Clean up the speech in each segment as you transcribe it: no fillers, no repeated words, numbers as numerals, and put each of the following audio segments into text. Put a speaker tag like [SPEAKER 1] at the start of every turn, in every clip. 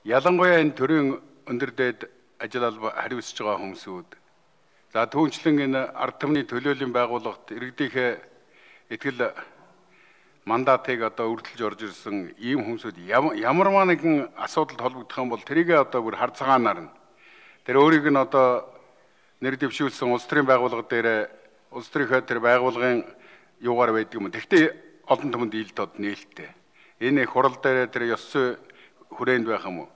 [SPEAKER 1] ялангуяа энэ төрийн өндөр дээд ажил алба хариуцж байгаа хүмүүсүүд за түүнчлэн энэ ард түмний төлөөллийн байгууллагт иргэдийнхээ итгэл мандатыг одоо үргэлж орж ирсэн ийм хүмүүсүүд ямар нэгэн асуудалд холбогдох юм бол тэрийг одоо бүр хар цагаанаар нь тэр өөрийг нь одоо нэр дэвшүүлсэн улс төрийн байгууллага дээр улс төрийнхөө тэр байгууллагын юугаар байдаг юм. Тэгтээ олон түмэнд ил тод нээлттэй. Энэ хурал дээр тэр ёс зүй хүрээнд байх юм уу?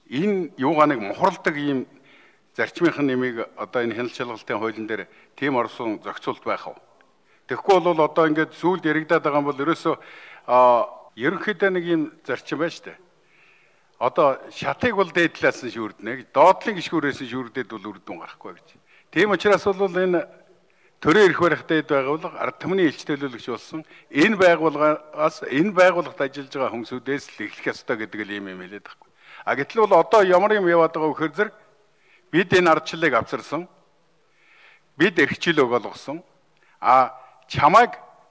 [SPEAKER 1] Энэ юугаа нэг мухарладаг ийм зарчмынхын нэмийг одоо энэ хяналт шалгалтын хуулийн дээр тийм орсон зохицуулт байх уу? Тэгэхгүй бол одоо ингээд сүүлд яригадаад байгаа юм бол ерөөсөө ерөнхийдөө нэг юм зарчим байна шүү дээ. Одоо шатыг бол дээдлээс нь шүүрдэнэ гэж доотлын гишгүүрээс нь шүүрдээд бол үрдүн гарахгүй гэж. Тийм учраас бол энэ төрийн эрх барих дээд байгууллага ард түмний элч төлөөлөгч болсон энэ байгууллагаас энэ байгууллагт ажиллаж байгаа хүмүүсүүдээс л эхлэх ёстой гэдэг л юм хэлээд байхгүй. А гэтэл бол одоо ямар юм яваад байгаа вөхөр зэрэг бид энэ ардчлалыг авчирсан. Бид эрхчлөөг олгосон.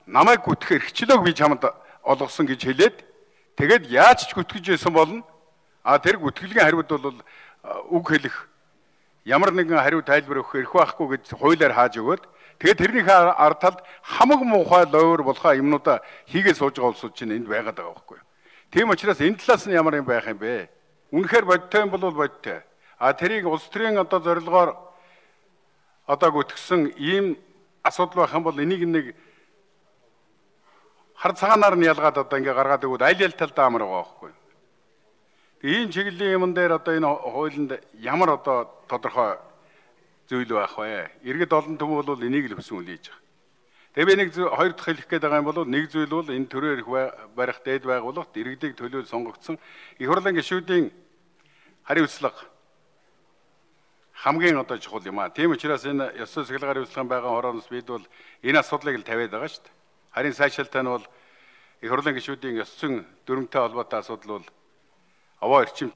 [SPEAKER 1] Намайг гүтгэх эрхчлөөг би чамд олгосон гэж хэлээд тэгээд яаж ч гүтгэж байсан болно. Тэр гүтгэлгийн хариуд бол үг хэлэх ямар нэгэн хариу тайлбар өгөх эрх байхгүй гэж хуулиар хааж өгөөд тэгээд тэрнийхээ ард талд хамаг муухай лойвор болохоо юмнуудаа хийгээд сууж байгаа улсууд чинь энд байгаад байгаа байхгүй юу. Тийм учраас энэ талаас нь ямар юм байх юм бэ? Үнэхээр бодтой юм бол бодтой. Тэрийг улс төрийн одоо зорилгоор одоо гүтгсэн ийм асуудал байх юм бол энийг нэг хар цагаанаар нь ялгаад одоо ингээ гаргаад өгөөд аль талдаа амар байгаа байхгүй юу. Ийм чиглэлийн юм дээр одоо энэ хуулинд ямар одоо тодорхой зүйл байх вэ? Иргэд олон түмэн бол энийг л хүсэн үлээж байгаа. Тэгээ би нэг хоёр дахь хэлэх гээд байгаа юм бол нэг зүйл бол энэ төрийн эрх барих дээд байгууллагт иргэдийг төлөөлж сонгогдсон их хурлын гишүүдийн хариуцлага хамгийн одоо чухал юм аа. Тийм учраас энэ ёс зүйн сахилгын хариуцлагын байгаа хорооноос бид бол энэ асуудлыг л тавиад байгаа шүү дээ. Харин сайшаалтай нь бол их хурлын гишүүдийн ёс зүйн дүрмтэй холбоотой асуудал бол овоо эрчим